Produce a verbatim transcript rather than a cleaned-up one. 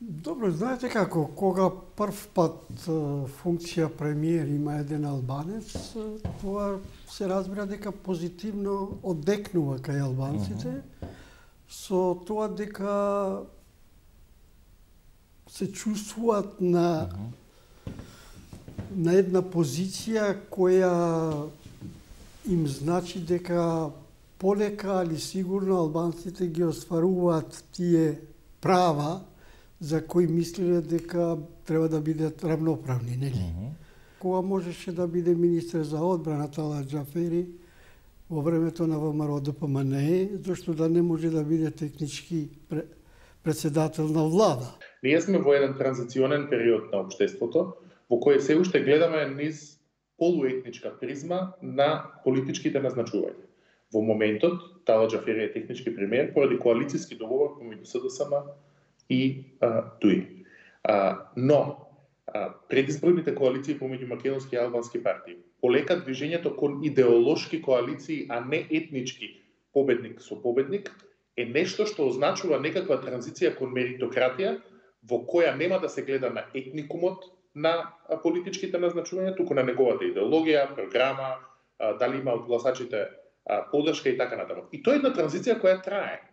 Добро, знаете како, кога прв пат функција премиер има еден албанец, тоа се разбира дека позитивно одекнува кај албанците, uh -huh. со тоа дека се чувствуваат на uh -huh. на една позиција која им значи дека полека, али сигурно албанците ги остваруваат тие права за кои мислеле дека треба да бидат равноправни, нели? Uh -huh. Кога можеше да биде министер за одбрана Талат Џафери во времето на ВМРО Д П М Н Е, зашто да не може да биде технички председател на влада? Ние сме во еден транзиционен период на општеството, во кој се уште гледаме низ полуетничка призма на политичките назначувања. Во моментот, Талат Џафери е технички премиер поради коалицијски договор помеѓу С Д С М и а, Д У И. А, но, а, предизборните коалиции помеѓу македонски и албански партии полека движењето кон идеолошки коалиции, а не етнички победник со победник, е нешто што означува некаква транзиција кон меритократија, во која нема да се гледа на етникумот на политичките назначувања, туку на неговата идеологија, програма, а, дали има од гласачите а, поддршка и така натаму. И тоа е една транзиција која трае.